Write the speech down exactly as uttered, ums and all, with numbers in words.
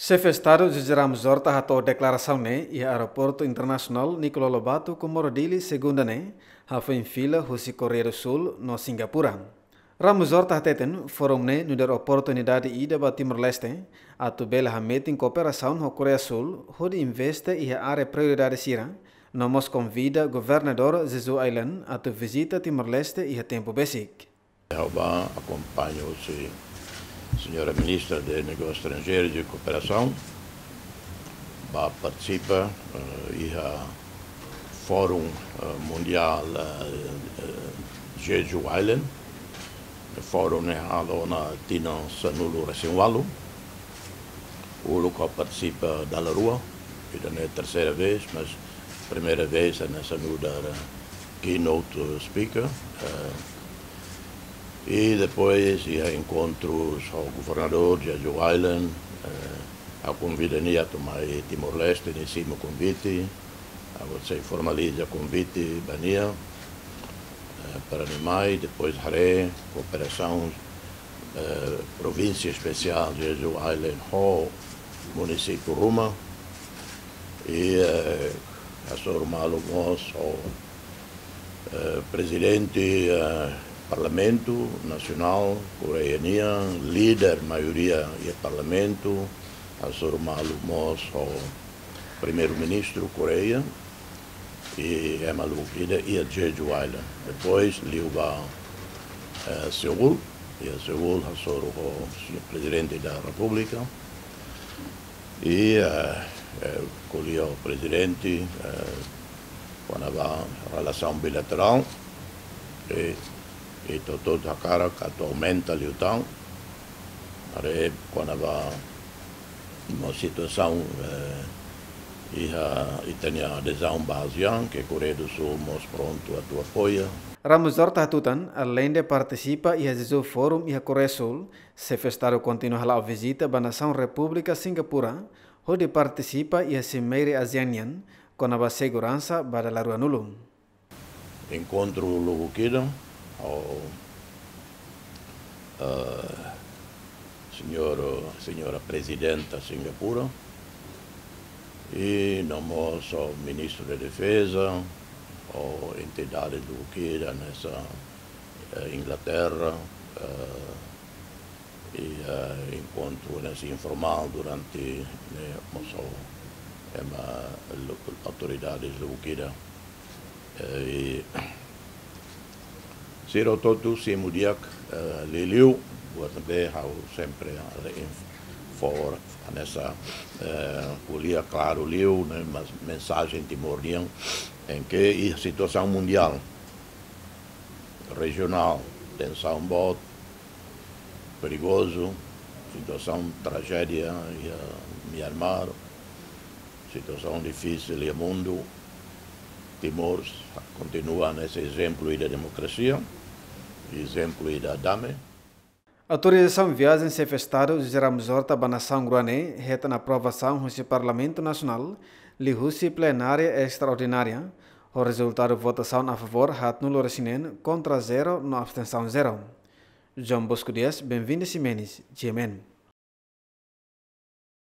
Xefe Estadu José Ramos Horta hato'o deklarasaun ne'e iha Aeroportu Internasionál Nicolau Lobato, Comoro Dili, Segunda ne'e, hafoin fila husi Koreia do Sul no Singapura. Ramos Horta hateten, forum ne'e nu'udar oportunidade ida ba Timor-Leste atu bele hametin kooperasaun ho Koreia Sul hodi investe iha área prioridade sira, no mós konvida Governadór Jeju Island atu vizita Timor-Leste iha tempu besik. Ha'u bá akompaña husi Señora Ministra de Negósius Estranjeirus i Kooperasaun, bá partisipa, eh, iha Fórum, eh, Mundiál, eh, eh, Jeju Island. Fórum ne'e halo ona tinan sanulu-resin-ualu. Uluk ha'u partisipa dala rua, ida-ne'e terseira vez, mas primeira vez hanesan nu'udar, eh, keynote speaker. Eh, i depois iha enkontrus ho governadór Jeju Island, eh, ha'u konvida nia atu mai Timor-Leste, nia simu konvite, ha'u sei formaliza konvite ba nia, eh, para nia mai, depois haree kooperasaun, eh, Provínsia Espesiál Jeju Island ho munisípiu ruma, i, eh, hasoru malu mós ho, eh, Prezidente, eh, Parlamentu Nasionál Koreia nian, líder maioria iha Parlamentu, hasoru malu mós ho Primeiru-Ministru Koreia, i ema lubuk ida iha Jeju Island. Depois liu ba, eh, Seul, iha Seul hasoru ho Señór Prezidente da Repúblika, i, eh, eh, ko'alia ho Prezidente, eh, kona-ba relasaun bilaterál, i, i ita hotu hakarak atu aumenta liután, haree kona-ba mós situasaun, eh, iha ita-nia adezaun ba ASEAN, ke Koreia do Sul mós prontu atu apoia. Ramos Horta hatutan, aleinde partisipa iha Jeju Forum iha Koreia Sul, Xefe Estadu kontinua hala'o vizita ba nasaun Repúblika Singapura, hodi partisipa iha Simeire ASEAN nian, kona-ba seguransa ba dala ruanulu. Enkontru lubuk ida ho, eh, señór, señora Prezidenta Singapura, i no mós ho Ministru de Defeza, ho entidade lubuk ida hanesan, eh, Inglaterra, eh, i, eh, enkontru hanesan informál durante ne'e mós ho ema lu-, autoridades lubuk ida. Eh, i sira hotu simu di'ak, eh, liuliu, buat ne'ebé ha'u sempre halo informa hanesan, eh, ko'alia klaru liu, ne'e, mas mensajen Timor nian, em que iha situasaun mundiál, rejionál, tensaun boot, perigozu, situasaun trajédia iha Myanmar, situasaun difisil iha mundu, Timor kontinua hanesan ezemplu ida demokrasia, ezemplu ida dame. Autorizasaun viajen Xefe Estadu José Ramos Horta ba nasaun rua ne'e hetan aprovasaun husi Parlamentu Nasionál, liuhusi plenária estraordinária, ho rezultadu votasaun a favór haatnulu-resin-neen, kontra zero no abstensaun zero. João Bosco Dias, Benvinda Ximenes, G M N.